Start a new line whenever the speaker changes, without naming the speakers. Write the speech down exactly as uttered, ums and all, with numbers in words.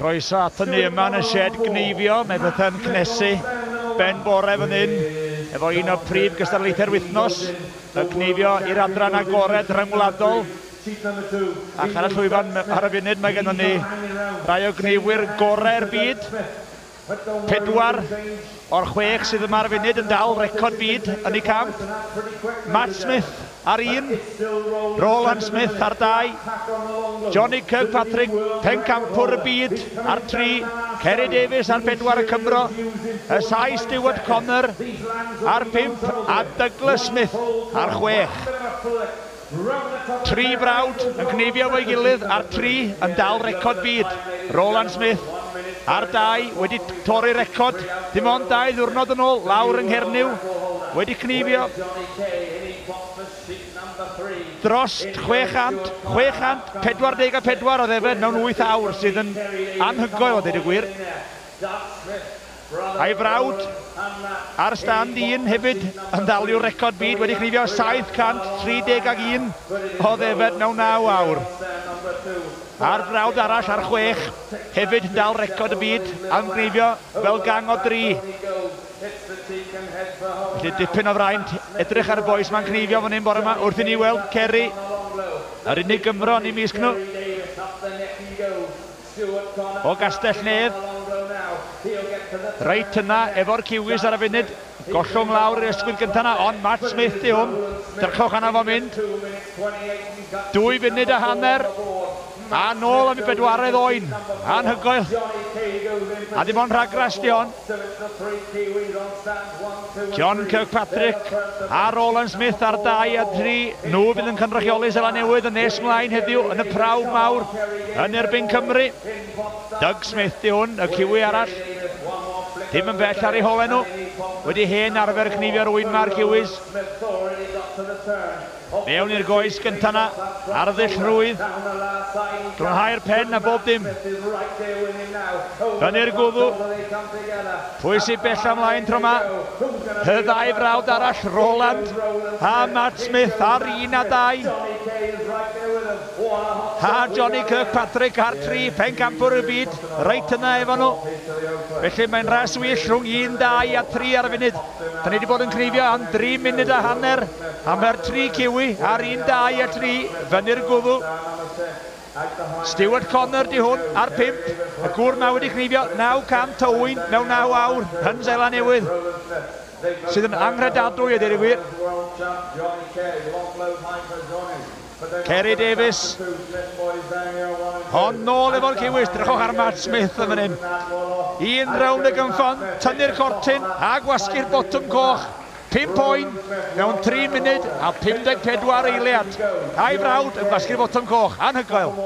Croeso aton ni yma yn y shed gneifio, mae pethau'n cnesu ben bore fan hyn, efo un o prif gystadlaethau'r wythnos, y cneifio i'r adran agored rhyngwladol. Ac ar y llwyfan ar y funud mae gennym ni rai o gneifwyr gorau'r byd. Pedwar o'r chwech sydd yma ar y funud yn dal record byd yn eu camp. Matt Smith ar un, Roland Smith ar dau, Johnny Kirkpatrick, pencampwr y byd ar tri, Kerry Davies ar pedwar y Cymro, y Sais Stuart Connor ar pump a Douglas Smith ar chwech. Tri brawd yn cneifio efo'i gilydd a'r tri yn dal record byd. Roland Smith ar dau wedi torri record, dim ond dau ddiwrnod yn ôl, lawr yng Nghernyw, wedi cneifio dros chwe chant, chwe chant pedwar deg a pedwar o ddefed mewn wyth awr, sydd yn anhygoel o ddeud y gwir. A'i frawd ar stand un hefyd yn ddaliwr record byd, wedi cneifio saith cant tri deg ag un o ddefed mewn naw awr. A'r brawd arall ar chwech hefyd yn dal record y byd am gneifio fel gang o dri. Felly dipyn o fraint edrych ar y bois ma'n cneifio fan hyn bore yma wrth i ni weld Kerry, yr unig Gymro yn eu mysg nhw, o Gastell Nedd. Reit yna efo'r Kiwis ar y funud, gollwng lawr i'r ysgwydd gyntaf yna, ond Matt Smith di hwn, drychwch arno fo mynd. Dwy funud a hanner, a nôl am i bedwaredd oen, anhygoel. A dim ond rhagras di hon. John Kirkpatrick a Roland Smith ar dau a tri, nhw fydd yn cynrychioli Seland Newydd yn nes mlaen heddiw yn y prawf mawr yn erbyn Cymru. Doug Smith di hwn, y Kiwi arall, dim yn bell ar eu holau nhw, wedi hen arfer cneifio'r ŵyn ma'r Kiwis. Mewn i'r goes gyntaf na, arddull rhwydd, glanhau'r pen a bob dim. Fyny'r gwddw, pwy sy'n bell ymlaen tro yma? Y ddau frawd arall, Roland a Matt Smith ar un a dau. A Johnny Kirkpatrick ar tri, pencampwr y byd, reit yna efo nhw. Felly mae'n ras wych rhwng un, dau a tri ar y funud. Da ni wedi bod yn cneifio am dri munud a hanner, a mae'r tri Kiwi ar un, dau a tri, fyny'r gwddw. Stuart Connor di hwn ar pump, y gŵr ma wedi cneifio naw cant o ŵyn mewn naw awr yn Seland Newydd, sydd yn anghredadwy a dweud y gwir. Kerry Davies, hon nôl efo'r Kiwis, drychwch ar Matt Smith yn fan hyn. Un rownd y gynffon, tynnu'r cortyn a gwasgu'r botwm coch. Pump oen mewn tri munud a pum deg pedwar eiliad. A'i frawd yn gwasgu'r botwm coch, anhygoel.